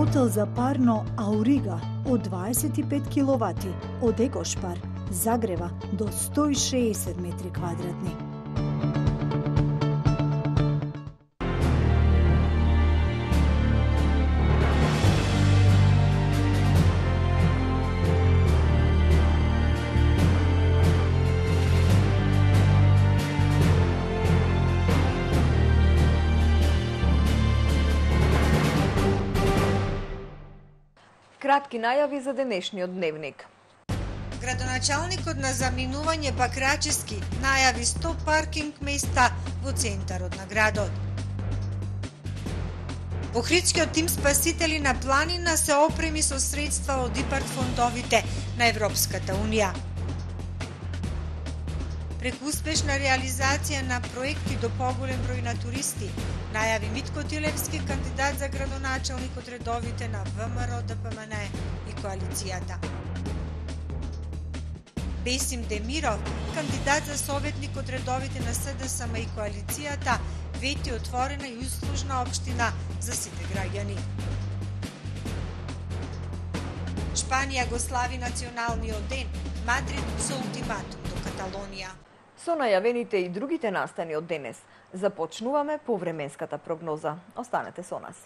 котел за парно Аурига од 25 киловати од Екошпар загрева до 160 метри квадратни. Кратки најави за денешниот дневник. Градоначалникот на заминување Бакрачевски најави 100 паркинг места во центарот на градот. Охридскиот тим спасители на планина се опреми со средства од ИПАРД фондовите на Европската Унија. Преку успешна реализација на проекти до поголем број на туристи, најави Митко Тилевски, кандидат за градоначалник од редовите на ВМРО, ДПМН и коалицијата. Бесим Демиров, кандидат за советник од редовите на СДСМ и коалицијата, вети отворена и услужна општина за сите граѓани. Шпанија го слави националниот ден, Мадрид со ултиматум до Каталонија. Со најавените и другите настани од денес, започнуваме повременската прогноза. Останете со нас.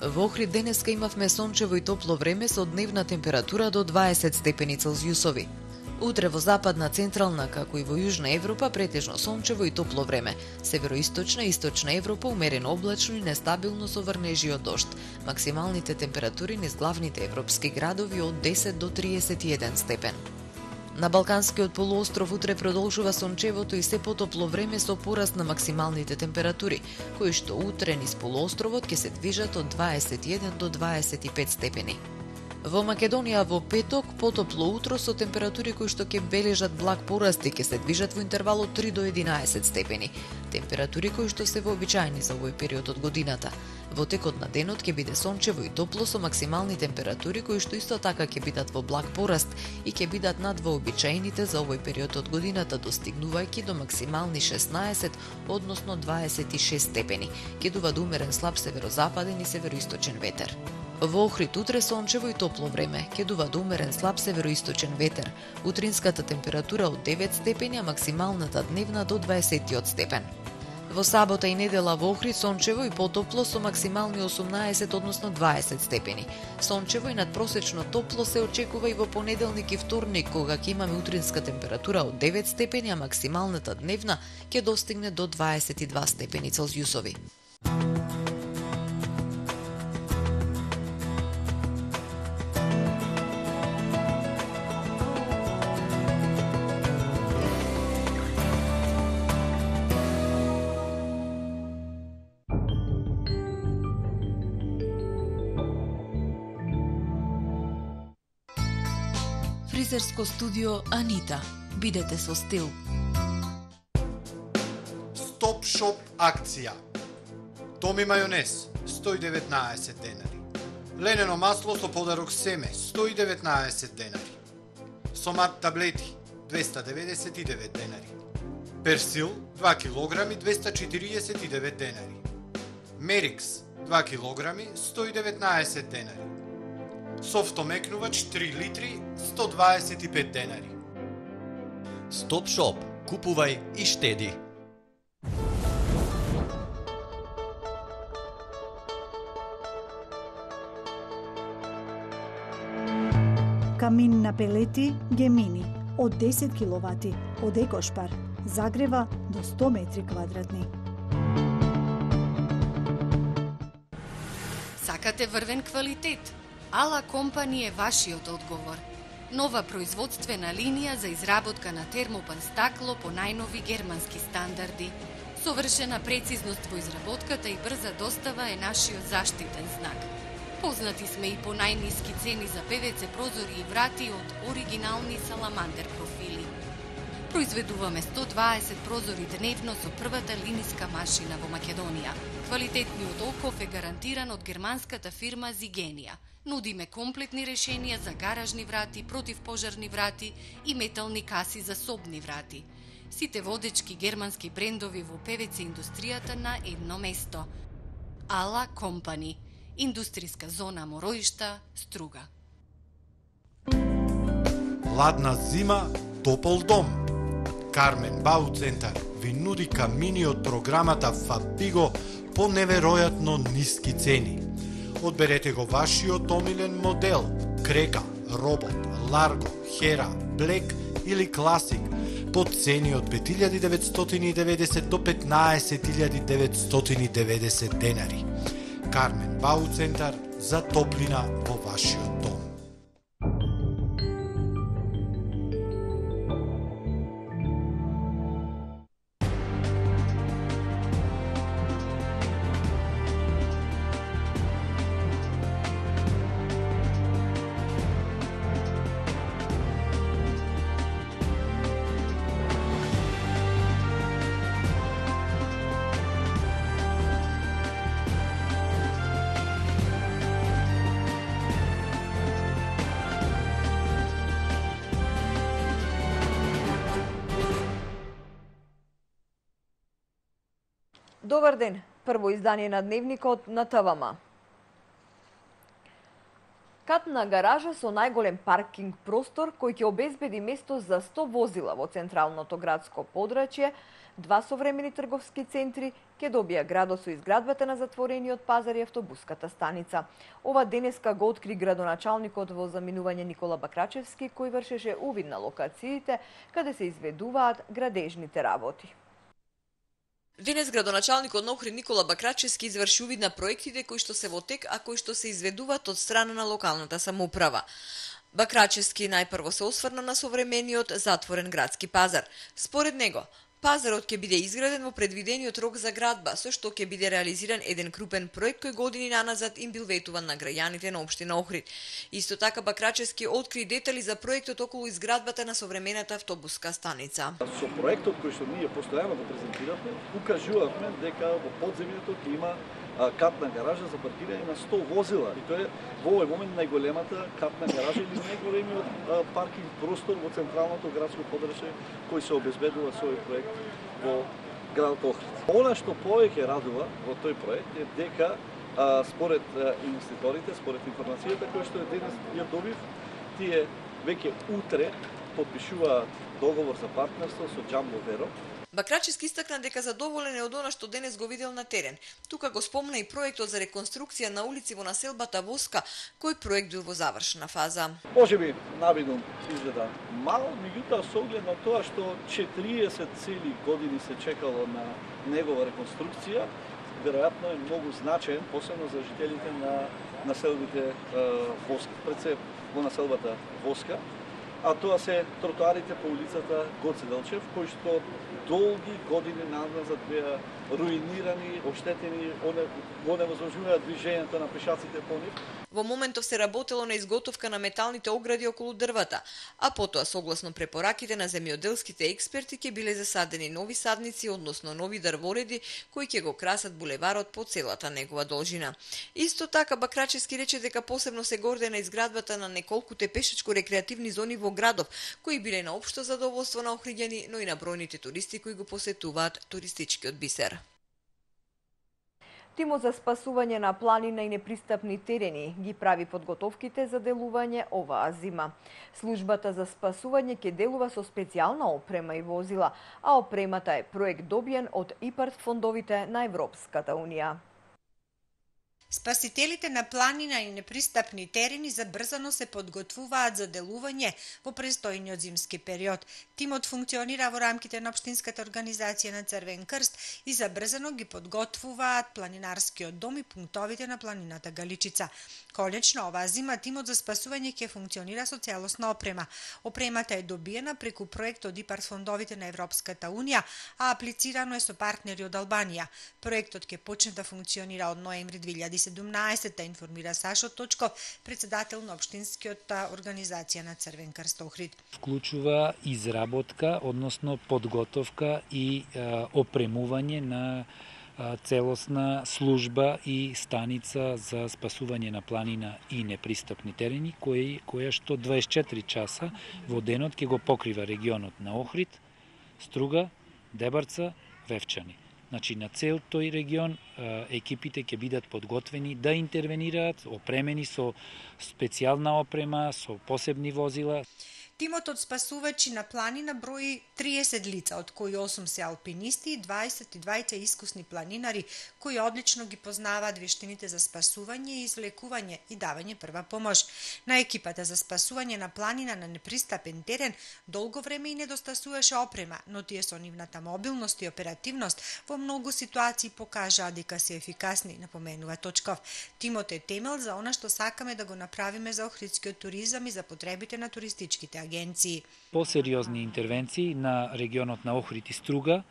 Во Охрид денеска имавме сончево и топло време со дневна температура до 20 степени Целзиусови. Утре во западна, централна, како и во Јужна Европа претежно сончево и топло време. Североисточна и источна Европа умерено облачно и нестабилно со врнежи од дожд. Максималните температури низ главните европски градови од 10 до 31 степен. На Балканскиот полуостров утре продолжува сончевото и се потопло време со пораст на максималните температури, кои што утре низ полуостровот ќе се движат од 21 до 25 степени. Во Македонија во петок потопло утро со температури кои што ќе бележат благ пораст и ќе се движат во интервал од 3 до 11 степени. Температури кои што се вообичаени за овој период од годината. Во текот на денот ќе биде сончево и топло со максимални температури кои што исто така ќе бидат во благ пораст и ќе бидат над вообичаените за овој период од годината, достигнувајќи до максимални 16, односно 26 степени. Ќе дува до умерен слаб северозападен и североисточен ветер. Во Охрид утре сончево и топло време, ќе дува до умерен слаб североисточен ветер. Утринската температура од 9 степени, а максималната дневна до 20 степен. Во сабота и недела во Охрид сончево и потопло со максимални 18, односно 20 степени. Сончево и надпросечно топло се очекува и во понеделник и вторник, кога ќе имаме утринска температура од 9 степени, а максималната дневна ќе достигне до 22 степени Целзиусови. Фризерско студио Анита. Бидете со стил. Стоп шоп акција. Томи мајонез 119 денари. Ленено масло со подарок семе 119 денари. Сомат таблети 299 денари. Персил 2 килограми 249 денари. Мерикс 2 килограми 119 денари. Софтомекнувач 3 литри 125 денари. Стоп шоп. Купувај и штеди. Камин на пелети Гемини од 10 киловати од Екошпар загрева до 100 метри квадратни. Сакате врвен квалитет? Ала компани е вашиот одговор. Нова производствена линија за изработка на термопан стакло по најнови германски стандарди. Совршена прецизност во изработката и брза достава е нашиот заштитен знак. Познати сме и по најниски цени за ПВЦ прозори и врати од оригинални саламандер профили. Произведуваме 120 прозори дневно со првата линиска машина во Македонија. Квалитетниот оков е гарантиран од германската фирма Зигенија. Нудиме комплетни решенија за гаражни врати, противпожарни врати и метални каси за собни врати. Сите водечки германски брендови во ПВЦ индустријата на едно место. Ала Компани. Индустријска зона Мороишта, Струга. Ладна зима, топол дом. Кармен Бау Центар ви нуди камини од програмата Фабиго по неверојатно ниски цени. Одберете го вашиот омилен модел: Крека, Робот, Ларго, Хера, Блек или Класик по цени од 5.990 до 15.990 денари. Кармен Бау Центар за топлина во вашиот дом. Добар ден, прво издание на Дневникот на ТВМ. Катна гаража со најголем паркинг простор кој ќе обезбеди место за 100 возила во централното градско подрачје, два современи трговски центри ќе добија градот со изградбата на затворениот пазар и автобуската станица. Ова денеска го откри градоначалникот во заминување Никола Бакрачевски, кој вршеше увид на локациите каде се изведуваат градежните работи. Денес градоначалникот на Охрид Никола Бакрачевски изврши увид на проектите кои што се во тек, а кои што се изведуваат од страна на локалната самоуправа. Бакрачевски најпрво се осврна на современиот затворен градски пазар. Според него, пазарот ќе биде изграден во предвидениот рок за градба, со што ќе биде реализиран еден крупен проект кој години наназад им бил ветуван на граѓаните на општина Охрид. Исто така Бакрачевски откри детали за проектот околу изградбата на современата автобуска станица. Со проектот кој што ние постојано го презентиравме, укажувавме дека во подземјето ќе има катна гаража за паркирање на 100 возила. И тоа е во овој момент најголемата катна гаража или најголемиот паркинг простор во централното градско подрачје кој се обезбедува со овој проект во градот Охрид. Она што повеќе радува во тој проект е дека според инвеститорите, според информацијата која што денес ја добив, тие веќе утре подпишуваат договор за партнерство со Джамбо Веро. Бакрачевски истакна дека задоволен е од она што денес го видел на терен. Тука го спомна и проектот за реконструкција на улици во населбата Воска, кој проект бил во завршна фаза. Можеби навидно изгледа мал, меѓутоа со оглед на тоа што 40 цели години се чекало на негова реконструкција, веројатно е многу значаен, посебно за жителите на населбите Воска. Пред се во населбата Воска, а тоа се тротоарите по улицата Гоце Делчев, кои што долги години назад беа руинирани, оштетени, оневозможуваат движењето на пешаците по нив. Во моментов се работело на изготовка на металните огради околу дрвата, а потоа согласно препораките на земјоделските експерти ќе биле засадени нови садници, односно нови дрвореди кои ќе го красат булеварот по целата негова должина. Исто така Бакрачевски рече дека посебно се горде на изградбата на неколкуте пешачко-рекреативни зони во градов, кои биле на општо задоволство на охриѓани, но и на бројните туристи кои го посетуваат туристичкиот бисер. Тимот за спасување на планина и непристапни терени ги прави подготовките за делување оваа зима. Службата за спасување ќе делува со специјална опрема и возила, а опремата е проект добиен од ИПАРД фондовите на Европската Унија. Спасителите на планина и непристапни терени забрзано се подготвуваат за делување во престојниот зимски период. Тимот функционира во рамките на Општинската организација на Црвен крст и забрзано ги подготвуваат планинарскиот дом и пунктовите на планината Галичица. Конечно, оваа зима тимот за спасување ќе функционира со целосна опрема. Опремата е добиена преку проект од ИПАРД фондовите на Европската Унија, а аплицирано е со партнери од Албанија. Проектот ќе почне да функционира од ноември 2017 2017, информира Сашо Точков, председател на Општинскиот организација на Црвен крст Охрид. Вклучува изработка, односно подготовка и опремување на целосна служба и станица за спасување на планина и непристапни терени, која што 24 часа во денот ќе го покрива регионот на Охрид, Струга, Дебарца, Вевчани. Значи, на цел тој регион екипите ќе бидат подготвени да интервенираат, опремени со специјална опрема, со посебни возила. Тимот од спасувачи на планина брои 30 лица, од кои 8 се алпинисти и 22 искусни планинари, кои одлично ги познаваат вештините за спасување, извлекување и давање прва помош. На екипата за спасување на планина на непристапен терен долго време и недостасуваше опрема, но тие со нивната мобилност и оперативност во многу ситуации покажаа дека се ефикасни, напоменува Точков. Тимот е темел за она што сакаме да го направиме за охридскиот туризам и за потребите на туристичките агенции. По-сериозни интервенции на регионот на Охрид и Струга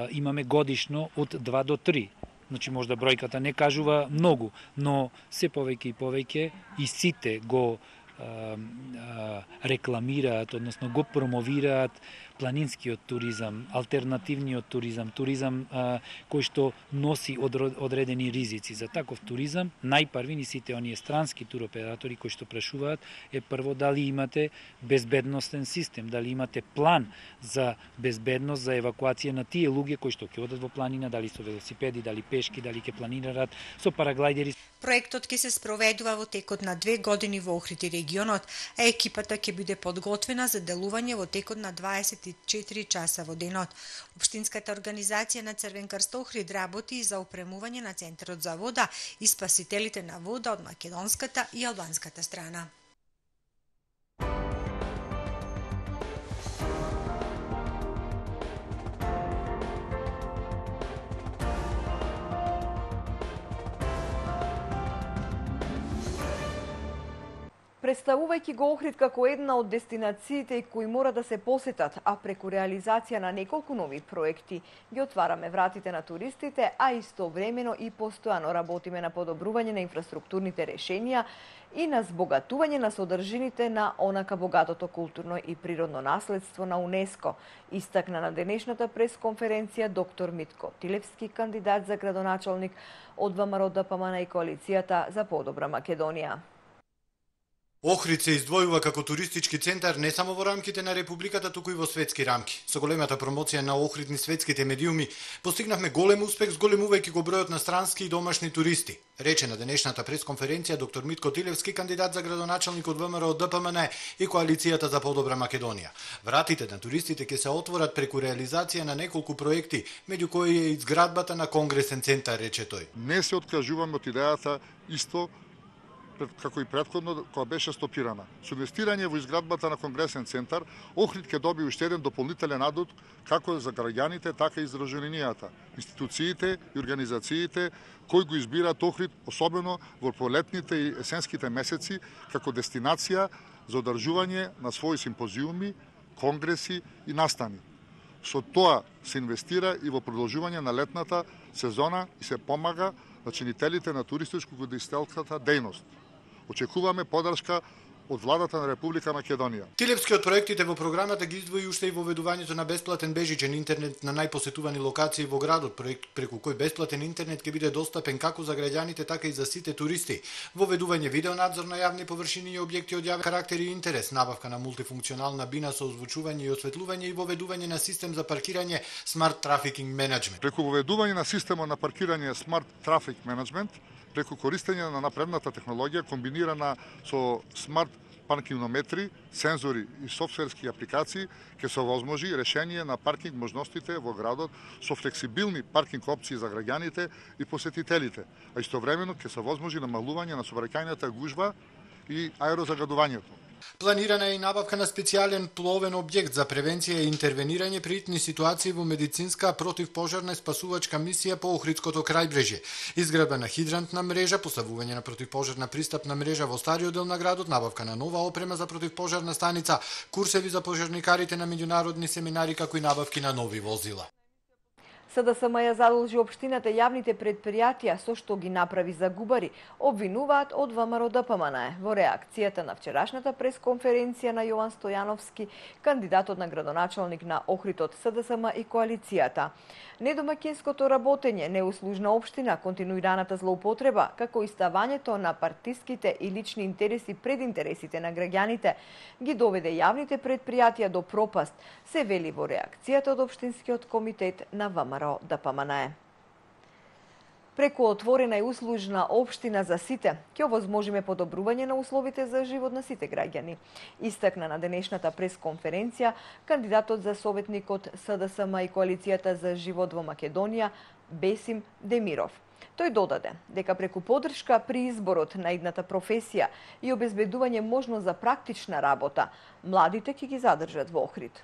имаме годишно од 2 до 3. Значи, можда бројката не кажува многу, но се повеќе и повеќе и сите го рекламираат, односно го промовираат планинскиот туризам, алтернативниот туризам, туризам кој што носи одредени ризици. За таков туризам, најпрви ни сите оние странски туроператори кои што прашуваат е прво дали имате безбедностен систем, дали имате план за безбедност, за евакуација на тие луѓе кои што ќе одат во планина, дали со велосипеди, дали пешки, дали ќе планираат со параглајдери. Проектот ќе се спроведува во текот на 2 години во Охрид и регионот, а екипата ќе биде подготвена за делување во текот на 24 часа во денот. Општинската организација на Црвен крст Охрид работи и за опремување на центарот за вода и спасителите на вода од македонската и албанската страна. Представувајќи го Охрид како една од дестинациите кои мора да се посетат, а преку реализација на неколку нови проекти ги отвараме вратите на туристите, а истовремено и постојано работиме на подобрување на инфраструктурните решенија и на збогатување на содржините на онака богатото културно и природно наследство на УНЕСКО, истакна на денешната пресконференција доктор Митко Тилевски, кандидат за градоначалник од ВМРО ДПМН и коалицијата за подобра Македонија. Охрид се издвојува како туристички центар не само во рамките на Републиката, туку и во светски рамки. Со големата промоција на Охрид низ светските медиуми постигнавме голем успех зголемувајќи го бројот на странски и домашни туристи, рече на денешната пресконференција доктор Митко Тилевски, кандидат за градоначалник од ВМРО ДПМН и коалицијата за подобра Македонија. Вратите на туристите ќе се отворат преку реализација на неколку проекти, меѓу кои е изградбата на конгресен центар, рече тој. Не се откажуваме од идејата исто како и претходно, која беше стопирана. Со инвестирање во изградбата на конгресен центар, Охрид ќе доби уште еден дополнителен адут како за граѓаните, така и за граѓанината, институциите и организациите кои го избираат Охрид, особено во пролетните и есенските месеци, како дестинација за одржување на своји симпозиуми, конгреси и настани. Со тоа се инвестира и во продолжување на летната сезона и се помага на чинителите на туристичко-гостителската дејност. Очекуваме поддршка од владата на Република Македонија. Тилевски од проектите во програмата ги издвои уште и воведувањето на бесплатен бежичен интернет на најпосетувани локации во градот, проект преку кој бесплатен интернет ќе биде достапен како за граѓаните, така и за сите туристи. Воведување видеонадзор на јавни површини и објекти од јавен карактер и интерес, набавка на мултифункционална бина со озвучување и осветлување и воведување на систем за паркирање Smart Traffic Management. Преку воведување на системот на паркирање Smart Traffic Management, преку користење на напредната технологија комбинирана со смарт паркинометри, сензори и софтверски апликации, ќе се овозможи решение на паркинг можностите во градот со флексибилни паркинг опции за граѓаните и посетителите, а истовремено ќе се овозможи намалување на сообраќајната гужва и аерозагадувањето. Планирана е и набавка на специјален пловен објект за превенција и интервенирање при итни ситуации во медицинска противпожарна и спасувачка мисија по Охридското крајбрежје. Изградба на хидрантна мрежа, поставување на противпожарна пристапна мрежа во стариот дел на градот, набавка на нова опрема за противпожарна станица, курсеви за пожарникарите на меѓународни семинари, како и набавки на нови возила. СДСМ ја задолжи општината јавните предпријатија со што ги направи загубари, обвинуваат од ВМРО ДПМН. Во реакцијата на вчерашната пресконференција на Јован Стојановски, кандидатот на градоначалник на Охрид од СДСМ и коалицијата. Недомаќинското работење, неуслужна општина, континуираната злоупотреба, како и ставањето на партиските и лични интереси пред интересите на граѓаните, ги доведе јавните предпријатија до пропаст, се вели во реакцијата од Општинскиот комитет на ВМРО ДПМН. Преку отворена и услужна општина за сите, ќе овозможиме подобрување на условите за живот на сите граѓани. Истакна на денешната пресконференција кандидатот за советник од СДСМ и коалицијата за живот во Македонија Бесим Демиров. Тој додаде дека преку поддршка при изборот на идната професија и обезбедување можност за практична работа, младите ќе ги задржат во Охрид.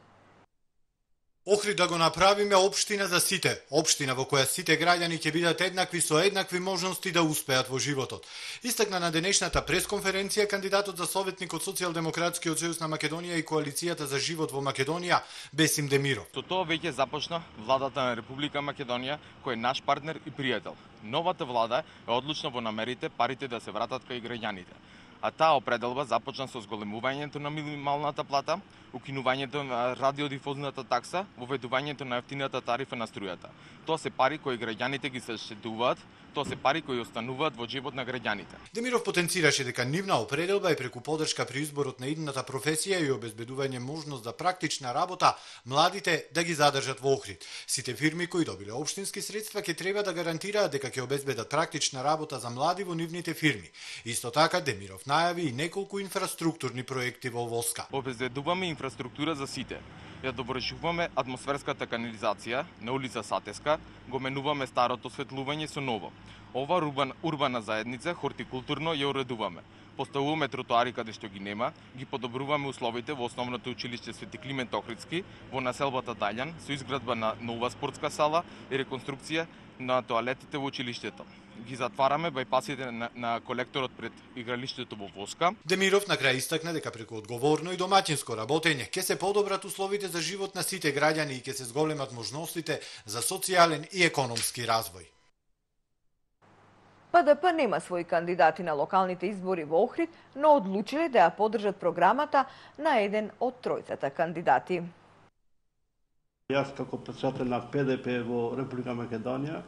Охрид да го направиме општина за сите, општина во која сите граѓани ќе бидат еднакви со еднакви можности да успеат во животот. Истакна на денешната пресконференција кандидатот за советник од Социјалдемократскиот сојуз на Македонија и коалицијата за живот во Македонија Бесим Демиров. Со тоа веќе започна владата на Република Македонија, кој е наш партнер и пријател. Новата влада е одлучна во намерите парите да се вратат кај граѓаните. А таа определба започна со зголемувањето на минималната плата, укинувањето на радиодифузната такса, воведувањето на ефтината тарифа на струјата. Тоа се пари кои граѓаните ги се штедуваат, тоа се пари кои остануваат во живот на граѓаните. Демиров потенцираше дека нивна определба е преку поддршка при изборот на идната професија и обезбедување можност за практична работа, младите да ги задржат во Охрид. Сите фирми кои добиле општински средства ќе треба да гарантираат дека ќе обезбедат практична работа за млади во нивните фирми. Исто така Демиров најави и неколку инфраструктурни проекти во Воска. Обезбедуваме инфраструктура за сите. Ја довршуваме атмосферската канализација на улица Сатеска, го менуваме старото осветлување со ново. Ова урбана заедница хортикултурно ја уредуваме. Поставуваме тротоари каде што ги нема, ги подобруваме условите во основното училиште Свети Климент Охридски, во населбата Даљан, со изградба на нова спортска сала и реконструкција на тоалетите во училиштето. Ги затвараме бајпасите на колекторот пред игралиштето во Воска. Демиров на крај истакна дека преку одговорно и домаќинско работење ќе се подобрат условите за живот на сите граѓани и ќе се зголемат можностите за социјален и економски развој. ПДП нема своји кандидати на локалните избори во Охрид, но одлучиле да ја поддржат програмата на еден од тројцата кандидати. Јас како председател на ПДП во Република Македонија,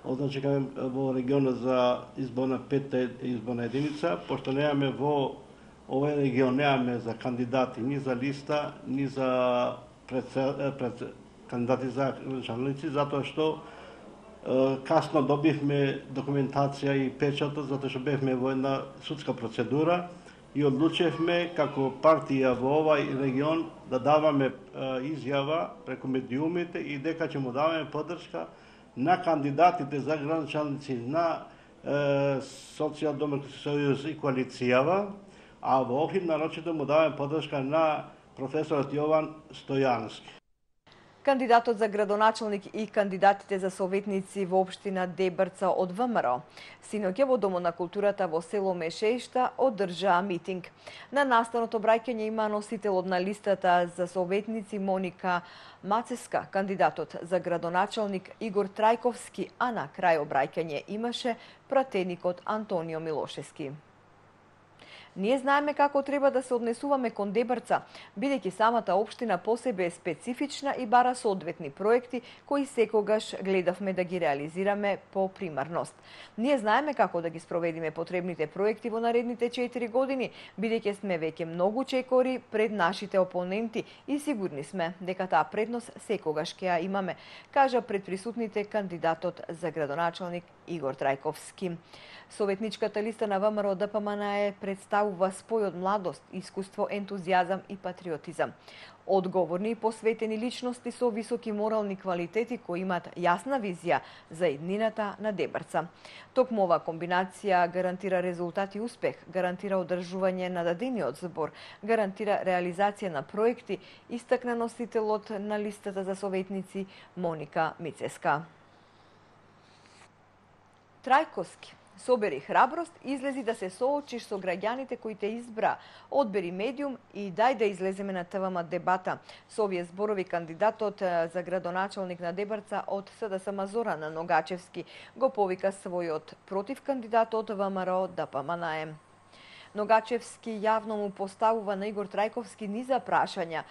означекавам во регионот за изборна петта изборна единица, пошто немаме во овој регион немаме за кандидати ни за листа, ни за кандидати за градоначалници, затоа што касно добивме документација и печатот, затоа што бевме во една судска процедура и одлучевме како партија во овај регион да даваме изјава преку медиумите и дека ќе му даваме поддршка на кандидатите за градоначалници на Социјалдемократски сојуз и коалицијава, а во Охрид нарочито му даваме поддршка на професорот Јован Стојановски. Кандидатот за градоначалник и кандидатите за советници во општина Дебрца од ВМРО синоќа во Домот на културата во село Мешешта одржаа митинг. На настаното обраќање има носителот на листата за советници Моника Мацеска, кандидатот за градоначалник Игор Трајковски, а на крај обраќање имаше пратеникот Антонио Милошевски. Ние знаеме како треба да се однесуваме кон Дебрца, бидејќи самата општина по себе е специфична и бара соодветни проекти кои секогаш гледавме да ги реализираме по примарност. Ние знаеме како да ги спроведиме потребните проекти во наредните 4 години, бидејќи сме веќе многу чекори пред нашите опоненти и сигурни сме дека таа предност секогаш ќе ја имаме, кажа пред присутните кандидатот за градоначалник Игор Трајковски. Советничката листа на ВМРО ДПМН представува спој од младост, искуство, ентузијазам и патриотизам. Одговорни и посветени личности со високи морални квалитети кои имаат јасна визија за иднината на Дебрца. Токму ова комбинација гарантира резултат и успех, гарантира одржување на дадениот збор, гарантира реализација на проекти, истакна носителот на листата за советници Моника Мицеска. Трајковски Собери храброст, излези да се соочиш со граѓаните кои те избра. Одбери медиум и дај да излеземе на ТВМ дебата. Со овие зборови кандидатот за градоначалник на Дебарца од СДСМ Зоран Ногачевски го повика својот против кандидатот ВМРО ДПМНЕ. Ногачевски јавно му поставува на Игор Трајковски низа прашања,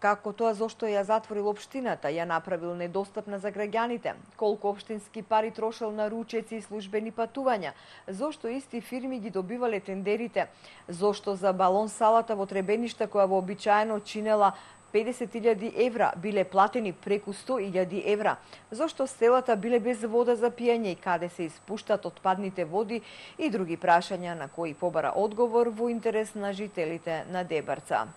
како тоа зошто ја затворил општината, ја направил недостапна за граѓаните, колку општински пари трошел на ручеци и службени патувања, зошто исти фирми ги добивале тендерите, зошто за балон салата во Требеништа која вообичаено чинела 50.000 евра биле платени преку 100.000 евра, зошто селата биле без вода за пиење и каде се испуштат отпадните води и други прашања на кои побара одговор во интерес на жителите на Дебарца.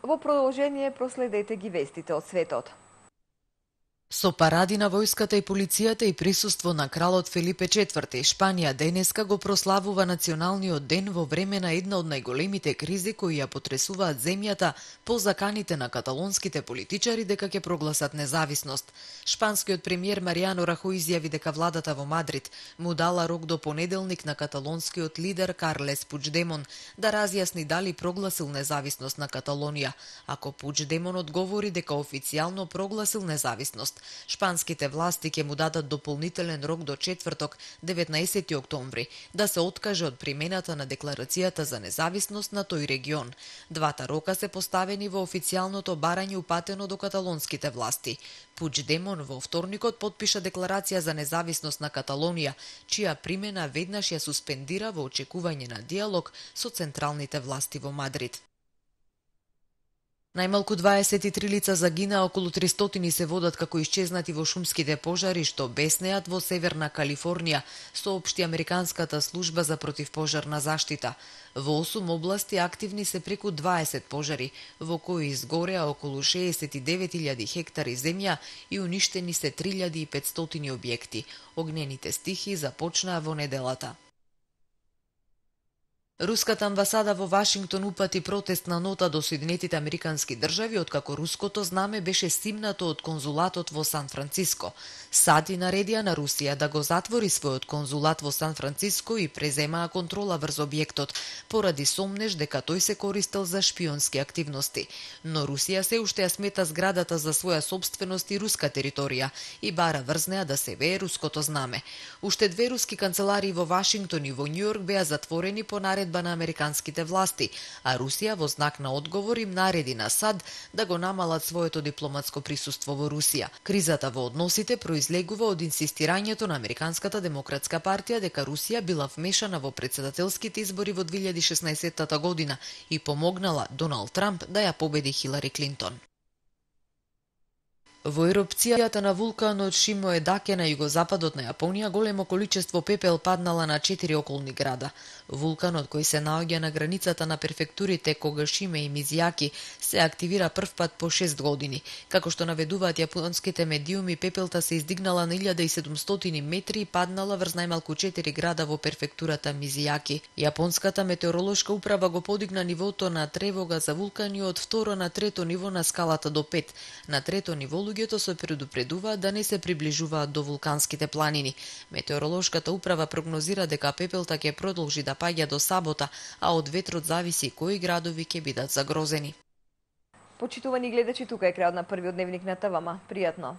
Во продолжение проследете ги вестите од светот. Со паради на војската и полицијата и присуство на кралот Филипе IV, Шпанија денеска го прославува националниот ден во време на една од најголемите кризи кои ја потресуваат земјата по заканите на каталонските политичари дека ќе прогласат независност. Шпанскиот премиер Маријано Рахој изјави дека владата во Мадрид му дала рок до понеделник на каталонскиот лидер Карлес Пучдемон да разјасни дали прогласил независност на Каталонија. Ако Пучдемон одговори дека официјално прогласил независност, шпанските власти ќе му дадат дополнителен рок до четврток, 19 октомври, да се откаже од примената на декларацијата за независност на тој регион. Двата рока се поставени во официјалното барање упатено до каталонските власти. Пучдемон во вторникот потпиша декларација за независност на Каталонија, чија примена веднаш ја суспендира во очекување на диалог со централните власти во Мадрид. Најмалку 23 лица загинаа, околу 300 се водат како исчезнати во шумските пожари што беснеат во Северна Калифорнија, соопшти Американската служба за противпожарна заштита. Во 8 области активни се преку 20 пожари, во кои изгореа околу 69.000 хектари земја и уништени се 3.500 објекти. Огнените стихии започнаа во неделата. Руската амбасада во Вашингтон упати протестна нота до Соединетите Американски држави откако руското знаме беше симнато од конзулатот во Сан Франциско. САД наредија на Русија да го затвори својот конзулат во Сан Франциско и преземаа контрола врз објектот, поради сомнеж дека тој се користел за шпионски активности. Но Русија се уште ја смета зградата за своја сопственост и руска територија и бара врз неа да се вее руското знаме. Уште 2 руски канцеларии во Вашингтон и во Њујорк беа затворени по наредба на американските власти, а Русија во знак на одговор им нареди на САД да го намалат своето дипломатско присуство во Русија. Кризата во односите произлегува од инсистирањето на Американската демократска партија дека Русија била вмешана во претседателските избори во 2016 година и помогнала Доналд Трамп да ја победи Хилари Клинтон. Во ерупцијата на вулканот Шимоедаке на југозападот на Јапонија големо количество пепел паднала на 4 околни града. Вулканот кој се наоѓа на границата на префектурите Когашиме и Мизијаки се активира првпат по 6 години. Како што наведуваат јапонските медиуми, пепелта се издигнала на 1700 метри и паднала врз најмалку 4 града во префектурата Мизијаки. Јапонската метеоролошка управа го подигна нивото на тревога за вулкани од 2 на 3 ниво на скалата до 5. На 3 ниво луѓето се предупредуваат да не се приближуваат до вулканските планини. Метеоролошката управа прогнозира дека пепелта ќе продолжи да паѓа до сабота, а од ветрот зависи кои градови ќе бидат загрозени. Почитувани гледачи, тука е крајот на првиот дневник на ТВМ. Пријатно!